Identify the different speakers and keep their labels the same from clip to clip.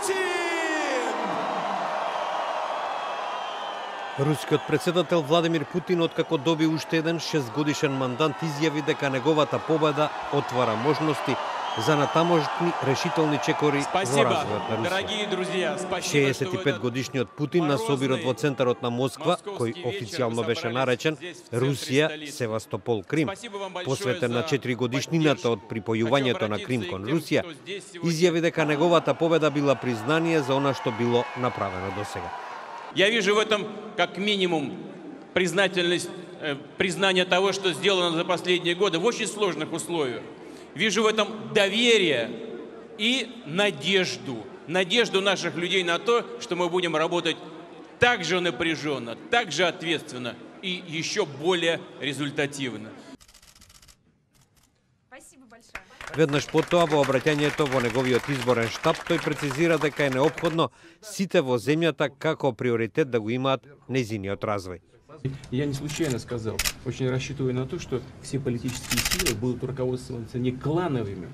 Speaker 1: Путин!
Speaker 2: Рускиот председател Владимир Путин, откако доби уште еден 6-годишен мандат, изјави дека неговата победа отвара можности за натамошни решителни чекори во развојот на Русија. 65-годишниот Путин на собирот во центарот на Москва, кој официјално беше наречен Русија, Севастопол, Крим, посветен на 4 годишнината од припојувањето на Крим кон Русија, изјави дека неговата победа била признание за она што било направено досега.
Speaker 3: Я вижу в этом как минимум признание того, что сделано за последние годы в очень сложных условиях. Вижу в этом доверие и надежду. Надежду наших людей на то, что мы будем работать так же напряженно, так же ответственно и еще более результативно.
Speaker 2: Веднаш потоа во обраќањето во неговиот изборен штаб, тој прецизира дека е неопходно сите во земјата како приоритет да го имаат нејзиниот развој.
Speaker 4: Я не случайно сказал, очень рассчитываю на то, что все политические силы будут руководствоваться не клановыми,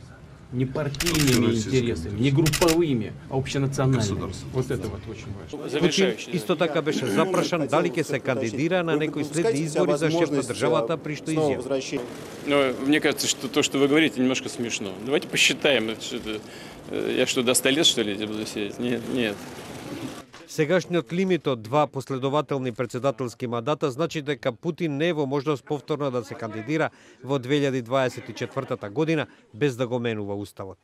Speaker 4: не партийными интересами, не групповыми, а общенациональными. Вот это вот очень важно.
Speaker 2: Путин исто така беше запрашан дали ќе се кандидира на некои следни избори за шеф на државата, при што изјави.
Speaker 3: Но мне кажется, что то, что вы говорите, немножко смешно. Давайте посчитаем. Я что, до 100 лет, что ли, буду сидеть? Нет.
Speaker 2: Сегашниот лимит од 2 последователни председателски мандата значи дека Путин не е во можност повторно да се кандидира во 2024 година без да го менува уставот.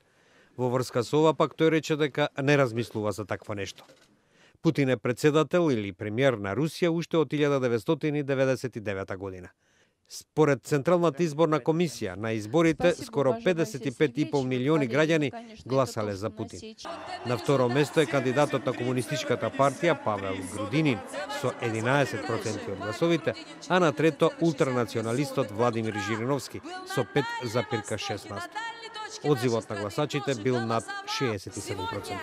Speaker 2: Во врска со ова пак тој рече дека не размислува за такво нешто. Путин е председател или премиер на Русија уште од 1999 година. Според Централната изборна комисија, на изборите скоро 55,5 милиони граѓани гласале за Путин. На второ место е кандидатот на Комунистичката партија Павел Грудинин со 11% од гласовите, а на трето ултранационалистот Владимир Жириновски со 5,16%. Одзивот на гласачите бил над 67%.